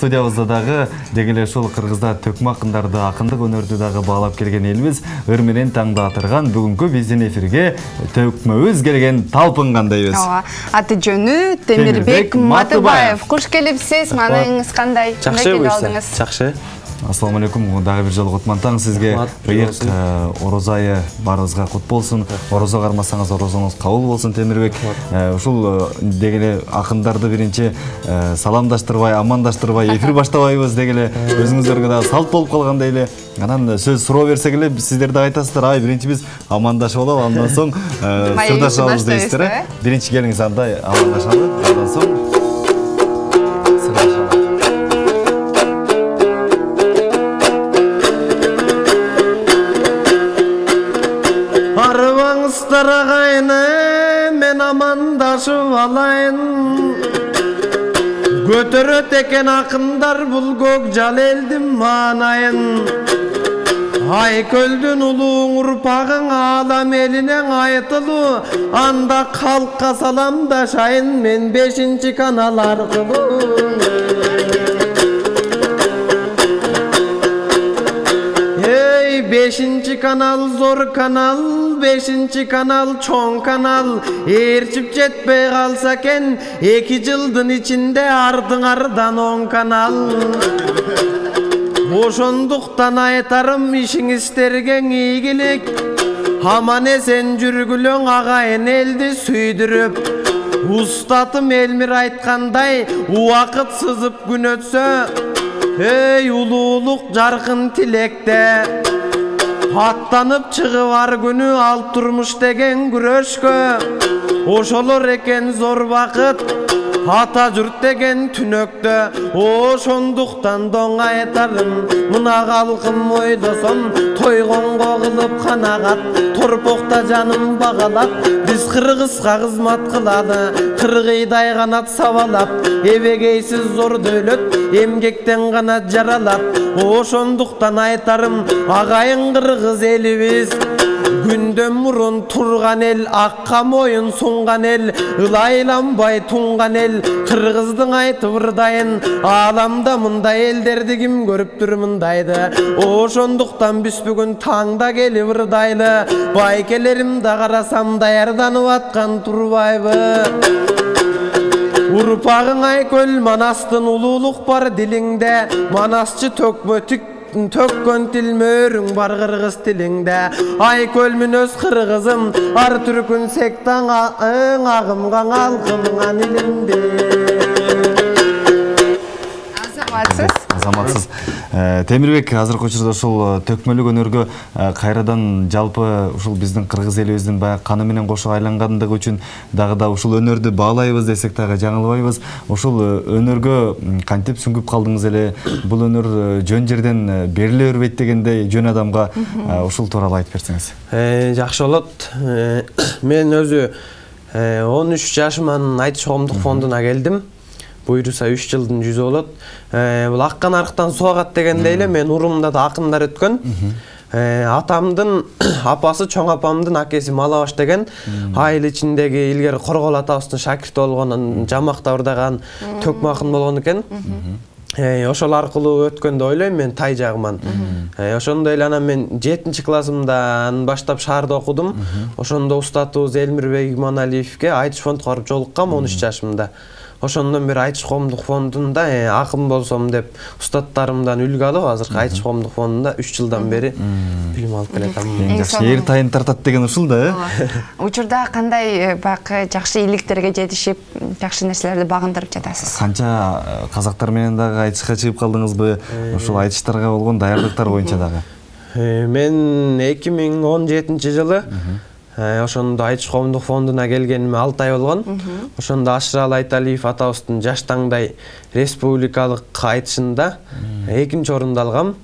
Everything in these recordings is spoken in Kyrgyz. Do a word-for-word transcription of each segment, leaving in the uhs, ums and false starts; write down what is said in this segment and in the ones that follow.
Студиябызда дагы деги эле ушул Кыргызда төкмө акындарды, акындык өнөрдү дагы баалап келген элибиз ыр менен таңда атырган бүгүнкү биздин эфирге төкмөбүз келген талпынгандайбыз. Ооба. Аты жөнү Темирбек Матыбаев. Куш келипсиз. Маанайыңыз кандай? Жакшы, жакшы. Ассаламу алейкум. Дагы бир жолу кутман таң сизге. Быйык орозо айы баарыбызга кут болсун. Орозо кармасаңыз орозоңуз кабыл болсун, Темирбек. Ушул деги эле акындарды биринчи саламдаштырбай, амандаштырбай эфир баштабайбыз деги эле өзүңүздөргө дагы салт болуп калгандай эле. Анан сөз суроо берсек эле сиздер да айтасыздар, ай биринчи биз амандашып алалы, андан соң сырдашабыз дейсиздер, э? Биринчи келиңиз андай амандашалы, андан соң Арабаңыздар мен амандашып алайын. Көтөрөт экен акындар бул көк жал элдин маанайын. Айкөлдүн улууң урпагың алам элинен айтылуу. Анда калкка саламдашайын мен бешинчи канал аркылуу. Эй, бешинчи канал зор канал, бешинчи канал чоң канал. Ээрчип жетпей калса экен эки жылдын ичинде ардыңардан он канал. Ошондуктан айтарым ишиңиздерге ийгилик. Аман эсен жүргүлөң агайын элди сүйдүрүп. Устатым Элмир айткандай, убакыт сызып күн өтсө, эй улуулук жаркын тилекте. Аттанып чыгып ар күнү ал турмуш деген күрөшкө. Ошолор экен зор бакыт, ата журт деген түнөктө. Ошондуктан доң айтарым, мына калкым ойлосом, тойгонго кылып канагат, торпокта жаным багалап, биз кыргызга кызмат кылалы, кыргыйдай канат сабалап, эбегейсиз зор дөөлөт эмгектен гана жаралат. Ошондуктан айтарым, агайын кыргыз элибиз, күндөн мурун турган эл, акка моюн сунган эл, ылайланбай тунган эл, кыргыздын айтып ырдайын. Ааламда мындай элдерди ким көрүптүр мындайды. Ошондуктан биз бүгүн таңда келип ырдайлы, байкелерим да карасам даярданып аткан турбайбы. Урпагың айкөл Манастын улуулук бар дилиңде, Манасчы төкмө төккөн тил мөрүң бар кыргыз тилиңде. Айкөл мүнөз кыргызым, ар түркүн сектаң агымга алкымган илимде. Азаматсыз. Азаматсыз. Темирбек азыркы учурда ушул төкмөлүк өнөргө кайрадан жалпы ушул биздин кыргыз элибиздин баягы каны менен кошо айлангандыгы үчүн дагы да ушул өнөрдү баалайбыз десек дагы жаңылбайбыз. Ушул өнөргө кантип сүңгүп калдыңыз эле? Бул өнөр жөн жерден бериле бербейт дегендей жөн адамга ушул тууралуу айтып берсеңиз. Жакшы болот. Мен өзү он үч жашыман Айтыш коомдук фондуна келдим. Буйруса үч жылдын жүзү болот. Бул аккан арктан суагат дегендей эле мен урумда да акындар өткөн. Атамдын апасы, чоң апамдын акеси Малабаш деген айыл ичиндеги илгери Коргол атабыздын шакирти болгон, жамакта ырдаган төкмө акын болгон экен. Ошол аркылуу өткөндө ойлойм мен тай жагыман. Ошондой эле анан мен жетинчи классымдан баштап шаарда окудум. Ошондо устатыбыз Элмирбек Иманалиевге Айтыш фондко барып жолуккам он үч жашымда. Ошондон бери Айтыш коомдук фондунда акын болсом деп устаттарымдан үлгү алып, азыркы Айтыш коомдук фондунда үч жылдан бери билим алып келатам. Эң жакшы эр тайын тартат деген ушул да, э? Учурда кандай бак жакшы иликтерге жетишип, жакшы нерселерди багындырып жатасыз? Канча казактар менен дагы айтышка чыгып калдыңызбы? Ушул айтыштарга болгон даярдыктар боюнча дагы. Мен эки миң он жетинчи жылы ошондо Айтыш коомдук фондуна келгениме алты ай болгон. Ошондо Ашырал Айталиев атабыздын жаш таңдай республикалык айтышында экинчи орунду алгам.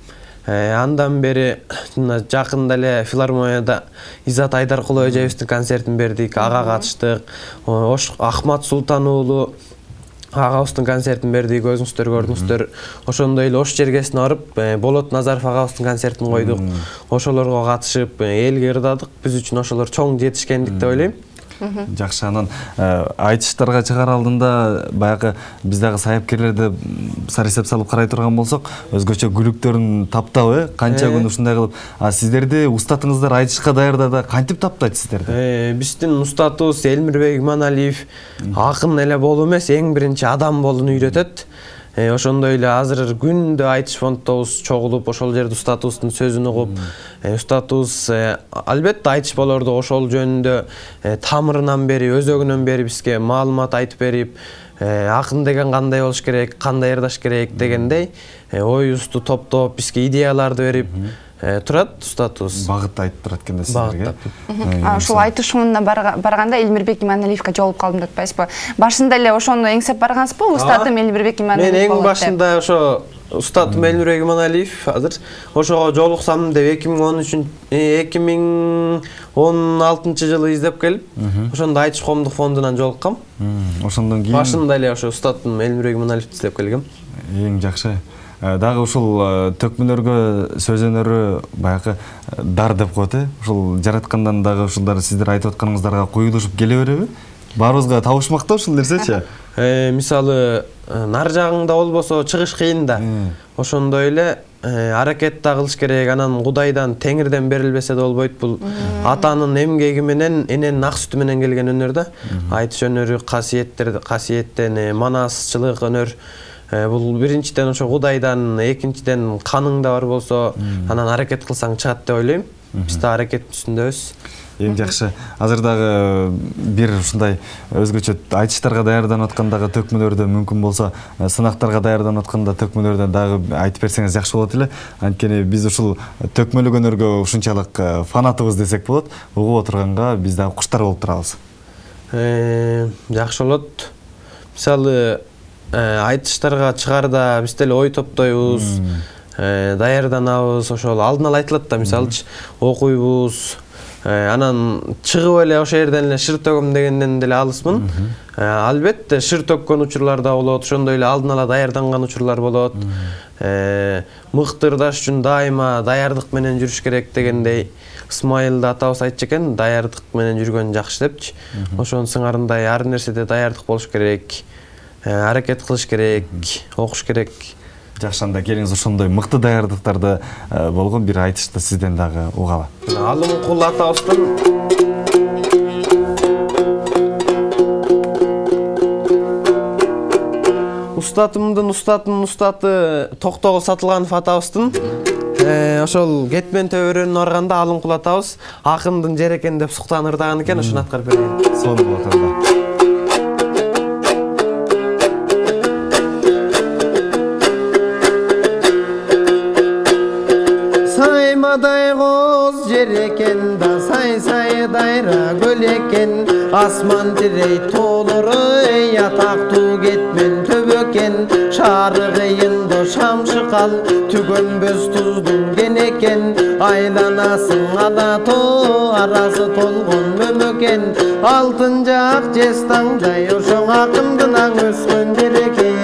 Андан бери жакында эле филармонияда Изат Айдаркулов эжебиздин концертин бердик, ага катыштык. Ахмат Султан уулу агабыздын концертин бердик, өзүңүздөр көрдүңүздөр. Ошондой эле Ош жергесине барып, Болот Назаров агабыздын концертин койдук. Ошолорго катышып, элге ырдадык. Биз үчүн ошолор чоң жетишкендик деп ойлойм. Жакшы, анан айтыштарга чыгаар алдында баягы биз дагы саяпкерлерди сарисеп салып карай турган болсок, өзгөчө күлүктөрүн таптап, э, канча күн ушундай кылып, а сиздерди устатыңыздар айтышка даярдада кантип таптайт сиздерди? Э, биздин устатыбыз Элмирбек Иманалиев акын эле болуу эмес, эң биринчи адам болууну үйрөтөт. Ошондой эле азыр күндө айтыш фондтобуз чогулуп, ошол жерде устатыбыздын сөзүн угуп, устатыбыз албетте айтыш болорду ошол жөнүндө тамырынан бери, өзөгүнөн бери бизге маалымат айтып берип, акын деген кандай болуш керек, кандай ырдаш керек дегендей оюбузду топтоп, бизге идеяларды берип турат устатыбыз. Багыт айтып турат экен да сиздерге. Ушул айтыш фондуна барганда Элмирбек Иманалиевге жолугуп калдым деп атпайсызбы? Башында эле ошону эңсеп баргансызбы? Устатым Элмирбек Иманалиев болот деп. Мен эң эң башында ошо устатым Элмирбек Иманалиев азыр ошого жолуксам деп эки миң он үчүнчү эки миң он алтынчы жылы издеп келип, ошондо айтыш коомдук фондунан жолуккам. Ошондон кийин башында эле ошо устатым Элмирбек Иманалиевди издеп келгем. Эң жакшы. Дагы ушул төкмөлөргө сөз өнөрү баягы дар деп коет, э? Ушул жараткандан дагы ушулдар сиздер айтып атканыңыздарга куюлушуп келе береби? Баарыбызга табышмак да ушул нерсечи? Э, мисалы, нар жагыңда болбосо чыгыш кыйын да. Ошондой эле аракет да кылыш керек, анан Кудайдан, Теңирден берилбесе да болбойт. Бул атанын эмгеги менен, эненин ак сүтү менен келген өнөр да. Айтыш өнөрү касиеттер, касиеттен, манасчылык өнөр. Бул биринчиден ошо Кудайдан, экинчиден каныңда бар болсо, анан аракет кылсаң чыгат деп ойлойм. Биз да аракеттин үстүндөбүз. Эң жакшы. Азыр дагы бир ушундай өзгөчө айтыштарга даярданып аткандагы төкмөлөрдө мүмкүн болсо, сынактарга даярданып атканда төкмөлөрдө дагы айтып берсеңиз жакшы болот эле. Анткени биз ушул төкмөлүк өнөргө ушунчалык фанатыбыз десек болот. Угуп отурганга биз дагы куштар болуп турабыз. Э, жакшы болот. Мисалы, айтыштарга чыгарда биз деле ой топтойбуз, даярданабыз, ошол алдын ала айтылат да, мисалчы окуйбуз, анан чыгып эле ошол жерден эле шыр төгөм дегенден деле алысмын. Албетте шыр төккөн учурлар да болот, ошондой эле алдын ала даярданган учурлар болот. Мыкты ырдаш үчүн дайыма даярдык менен жүрүш керек дегендей Исмайыл атабыз айтчу экен, даярдык менен жүргөн жакшы депчи. Ошонун сыңарындай ар нерседе даярдык болуш керек. Аракет кылыш керек, окуш керек. Жакшы, анда келиңиз ошондой мыкты даярдыктарды болгон бир айтышты сизден дагы угалы. Алымкул атабыздын устатымдын устатынын устаты Токтогул Сатылганов атабыздын ошол кетмен төбөрөнүнө барганда Алымкул атабыз акындын жер экен деп суктан ырдаган экен, ошону аткарып берген. Сонун болот анда. Saymaday qoz jer eken da say-say dayra göl eken, asman direy tooluru yatактуу кетмен төбөкен, шары кыйында шам шыкал түгөнбөз туздун кен экен, айланасың ала тоо арасы толгон мөмөкен, алтын жак жестаңдай ошоң акындын аң өскөн жер экен.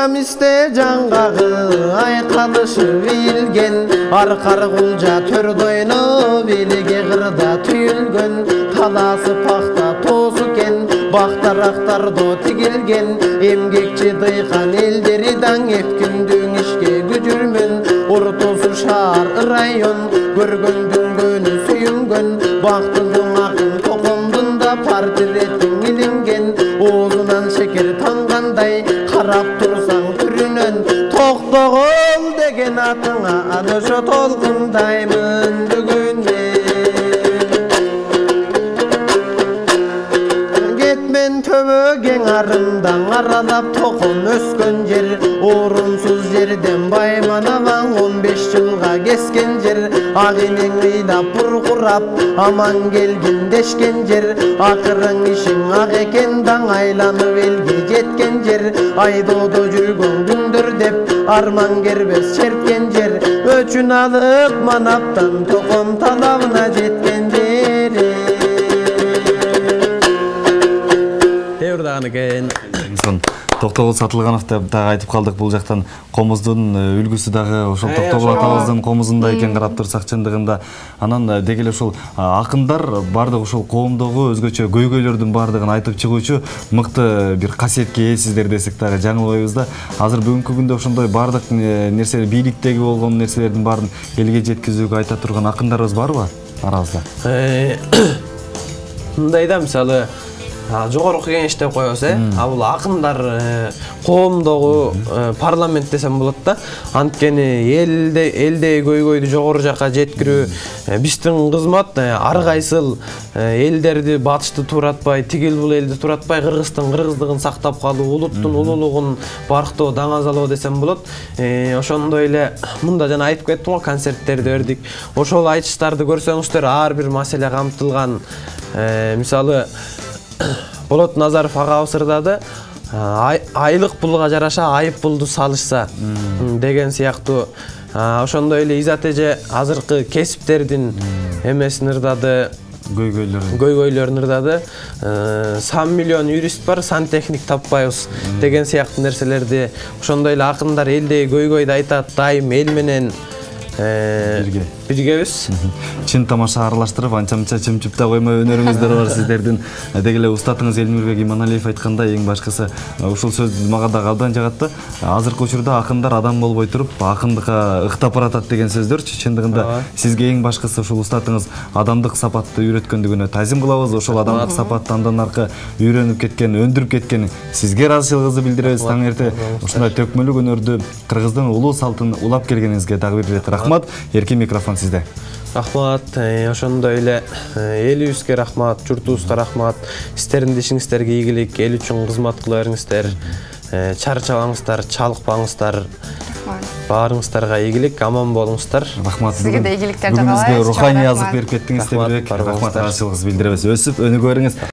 Мисте жаңгагы айкалышып ийилген, аркар кулжа төр дойно белиге кырда түйүлгөн, таласы пахта тоосу кен, бактарактардо тигилген, эмгекчи дыйкан элдери даң эпкиндүң ишке күжүрмөн, ортосу шаар район, көргөн дүнгөнү сүйүнгөн, бактылың акын токомдун да портретиң илинген, оозунан шекер тангандай карап турсаң түрүнөн, Токтогул деген атыңа аны ошо толкундаймын бүгүнде. Кетмен төбөгең арымдан аралап токон өскөн жер, орунсуз жерден байманабаң он беш жылга кескен жер, ак энең ыйлап буркурап аман келгин дешкен жер, акырың ишиң ак экен даң айланып элге жеткен жер, айдоодо жүргөн күндөр деп арман кербес черткен жер, өчүн алып манаптан током талабына жеткен жери. Сон Токтогул Сатылганов деп дагы айтып калдык, бул жактан комуздун үлгүсү дагы ошол Токтогул атабыздын комузунда экен карап турсак чындыгында. Анан деги эле ушул акындар бардык ушул коомдогу өзгөчө көйгөйлөрдүн бардыгын айтып чыгуучу мыкты бир касиетке ээсиздер десек дагы жаңылбайбыз да. Азыр бүгүнкү күндө ошондой бардык нерсе, бийликтеги болгон нерселердин баарын элге жеткизүүгө айта турган акындарыбыз барбы арабызда? Мындай да, мисалы жогорку кеңеш деп коебуз, э? А бул акындар коомдогу парламент десем болот да. Анткени элде элдеги көйгөйдү жогору жакка жеткирүү биздин кызмат. Ар кайсыл элдерди батышты туратпай, тигил бул элди туратпай, кыргыздын кыргыздыгын сактап калуу, улуттун улуулугун барктоо, даңазалоо десем болот. Ошондой эле мында жана айтып кеттим го, концерттерди бердик. Ошол айтыштарды көрсөңүздөр ар бир маселе камтылган. Мисалы Болот Назаров агабыз ырдады, айлык пулга жараша айып пулду салышса деген сыяктуу. Ошондой эле Изат эже азыркы кесиптердин эмесин ырдады, көйгөйлөрүн көйгөйлөрүн ырдады. Сан миллион юрист бар, сантехник таппайбыз деген сыяктуу нерселерди. Ошондой эле акындар элдеги көйгөйдү айтат, дайым эл менен бирге биргебиз. Чын тамаша аралаштырып, анча-мынча чымчып да коймой өнөрүңүздөр бар сиздердин. Деги эле устатыңыз Элмирбек Иманалиев айткандай, эң башкысы ушул сөз мага да абдан жагат да. Азыркы учурда акындар адам болбой туруп, акындыкка ыктап баратат деген сөздөрчү. Чындыгында сизге эң башкысы ушул устатыңыз адамдык сапатты үйрөткөндүгүнө тазим кылабыз. Ошол адамдык сапатты андан аркы үйрөнүп кеткен, өндүрүп кеткен сизге ыраазычылыгыбызды билдиребиз. Таң эрте ушундай төкмөлүк өнөрдү кыргыздын улуу салтын улап келгениңизге дагы бир рет рахмат. Эркин микрофон сизде. Рахмат, ошондой эле элибизге рахмат, журтубузга рахмат. Сиздердин ишиңиздерге ийгилик, эл үчүн кызмат кыла бериңиздер. Чарчабаңыздар, чалыкпаңыздар. Баарыңыздарга ийгилик, аман болуңуздар. Рахмат. Сизге да ийгиликтер жагалайбыз. Бүгүн бизге руханий азык берип кеттиңиз, Темирбек. Рахмат, ыраазычылыгыбызды билдиребиз. Өсүп, өнүгө бериңиз.